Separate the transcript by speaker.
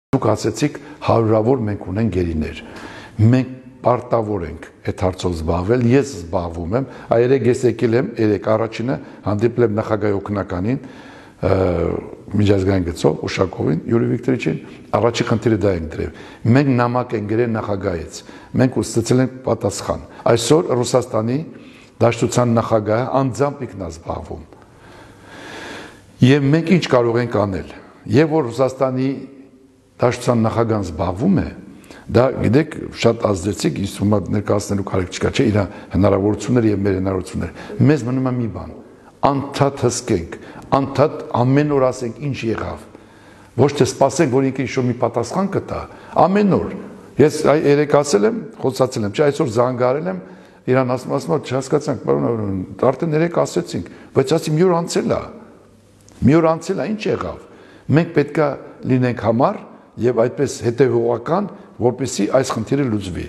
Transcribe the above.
Speaker 1: Դուք ասեցիք հարյուրավոր մենք ունենք գերիներ, մենք պարտավոր ենք այդ հարցով զբաղվել, ես զբաղվում եմ, երեք ես եկել եմ, երեք առաջինը հանդիպել եմ նախագահի օգնականին, միջազգային գծով Ուշակովին, Յուրի Վիկտորիչին, առաջի խնդիրը դա ենք դրել, մենք նամակ ենք գրել նախագահից, մենք ստացել ենք պատասխան, այսօր Ռուսաստանի Դաշնության նախագահը անձամբ ինքնազբաղվում, եւ մենք ինչ կարող ենք անել, եւ որ Ռուսաստանի Դաշնության նախագահան զբաղվում է, դա գիտեք շատ ազդեցիկ, ինձ թվում է ներկայացնելու կարիք չկա, չէ, իր հնարավորությունները եւ մեր հնարավորությունները։ Մեզ մնում է մի բան, անդադ հսկենք, անդադ ամեն օր ասենք ինչ եղավ։ Ոչ թե սպասենք, որ ինքը ինչ-որ մի պատասխան կտա, ամեն օր։ Ես երեք ասել եմ, խոսացել եմ, չէ, այսօր զանգարել եմ, իրան ասում եմ, չհասկացանք, պարոն, արդեն երեք ասեցինք, բայց ասի մի օր անցել է։ Մի օր անցել է, ինչ եղավ։ Մենք պետքա լինենք համառ եւ այդպես հետեւողական, որպեսզի այս խնդիրը լուծվի։